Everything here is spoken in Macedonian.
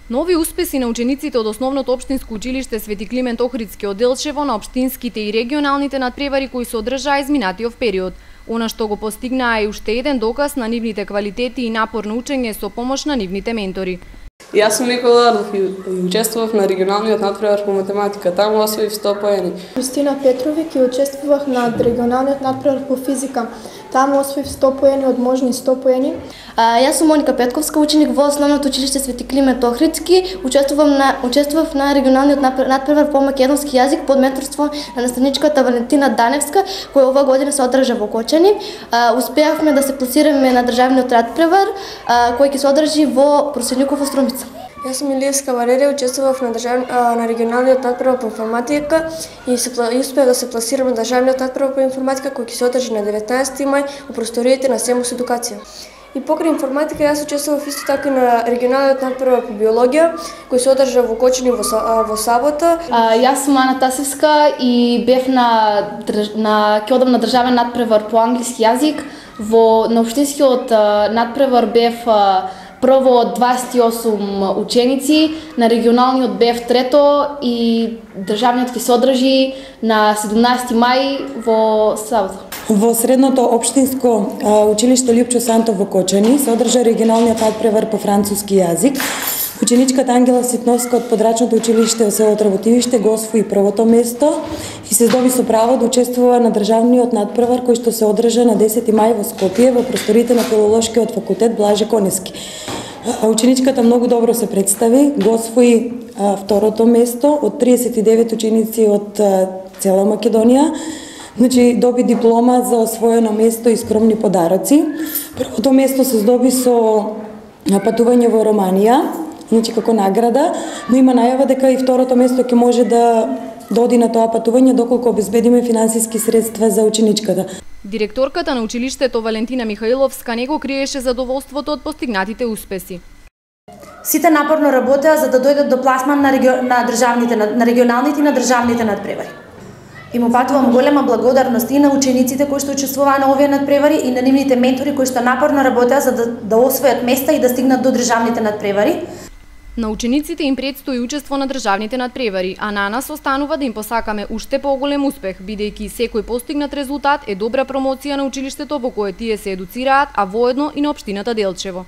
Нови успеси на учениците од основното општинско училиште Свети Климент Охридски од Делчево на општинските и регионалните надпревари кои се одржаа изминатиот период. Она што го постигнаа е уште еден доказ на нивните квалитети и напорно учење со помош на нивните ментори. Јас сум Никола Ардов и учествував на регионалниот надпревар по математика. Таму освоив 100 поени. Јустина Петровик и учествував на регионалниот надпревар по физика. Таму освоив 100 поени од можни 100 поени. Јас сум Моника Петковска, ученик во основното училиште Свети Климент Охридски. Учествував на регионалниот надпревар по македонски јазик под менторство на наставничката Валентина Даневска, која оваа година се одржа во Кочани. Успеавме да се пласираме на државниот надпревар, кој ќе се одржи во Проселников Струмица. Јас сум Илиевска Валерија, учествував на регионалниот надпревар по информатика и успеав да се пласирам на државниот надпревар по информатика кој ќе се одржи на 19 мај во просториите на СЕМУС Едукација. И покрај информатика јас учествував исто така на регионалниот надпревар по биологија кој се одржа во Кочани во сабота. Јас сум Ана Тасевска и бев ќе одам на државен надпревар по англиски јазик. На општинскиот надпревар бев прво од 28 ученици, на регионалниот бев трето и државниот ќе се одржи на 17 мај во сабота. Во средното општинско училиште Лјупчо Сантов во Кочани се одржа регионалниот надпревар по француски јазик. Ученичката Ангела Ситновска од подрачното училиште во село Тработивиште го освои првото место и се здоби со право да учествува на државниот надпревар кој што се одржа на 10 мај во Скопје во просториите на Филолошкиот факултет Блаже Конески. Ученичката многу добро се представи, го освои второто место од 39 ученици од цела Македонија. Доби диплома за освоено место и скромни подароци. Првото место се здоби со патување во Романија, како награда, но има најава дека и второто место ќе може да оди на тоа патување доколку обезбедиме финансиски средства за ученичката. Директорката на училиштето Валентина Михаиловска не го криеше задоволството од постигнатите успеси. Сите напорно работеа за да дојдат до пласман на регионалните и на државните надпревари. Им упатувам голема благодарност и на учениците кои што учествуваа на овие надпревари и на нивните ментори кои што напорно работеа за да освојат места и да стигнат до државните надпревари. На учениците им предстои учество на државните надпревари, а на нас останува да им посакаме уште поголем успех, бидејќи секој постигнат резултат е добра промоција на училиштето во кое тие се едуцираат, а воедно и на општината Делчево.